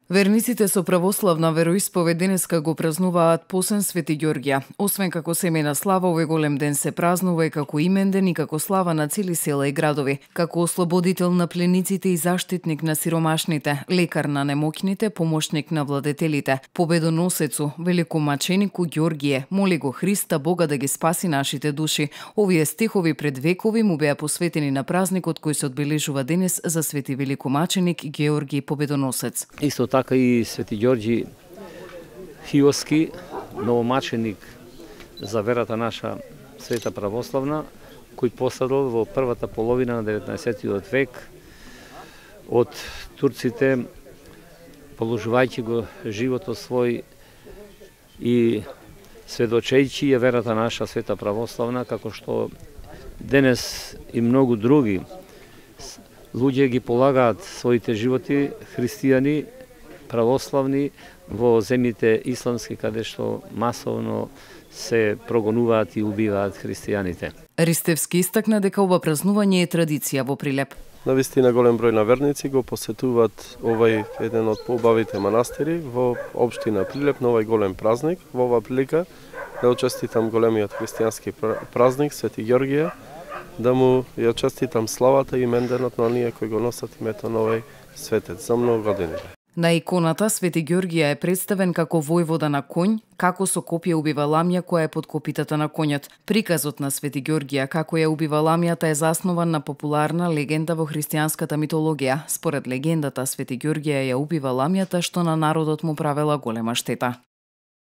Верниците со православна вероисповед денеска го празнуваат посен Свети Ѓорѓија. Освен како семејна слава, овој голем ден се празнува и како имен ден и како слава на цели села и градови, како ослободител на плениците и заштитник на сиромашните, лекар на немоќните, помошник на владетелите, победоносецу, великомаченику Ѓорѓие, моли го Христа Бога да ги спаси нашите души. Овие стихови пред векови му беа посветени на празникот кој се одбележува денес за Свети великомаченик Георги Победоносец. Исто така и Свети Ѓорѓи Хиоски, новомаченик за верата наша света православна, кој пострадал во првата половина на 19 век од турците, положувајќи го животот свој и сведочејќи ја верата наша света православна, како што денес и многу други луѓе ги полагаат своите животи, христијани, православни, во земјите исламски, каде што масовно се прогонуваат и убиваат христијаните. Ристевски истакна дека ова празнување е традиција во Прилеп. Навистина голем број на верници го посетуваат овај еден од поубавите манастири во општина Прилеп на овај голем празник. Во оваа прилика да честитам големиот христијански празник Свети Ѓорѓија, да му ја честитам славата и именденот на оние кои го носат името на овој светец за многу години. На иконата Свети Ѓорѓија е представен како војвода на конј, како со копје убива ламја која е под копитата на конјот. Приказот на Свети Ѓорѓија како ја убива ламјата е заснован на популарна легенда во христијанската митологија. Според легендата, Свети Ѓорѓија ја убива ламјата што на народот му правела голема штета.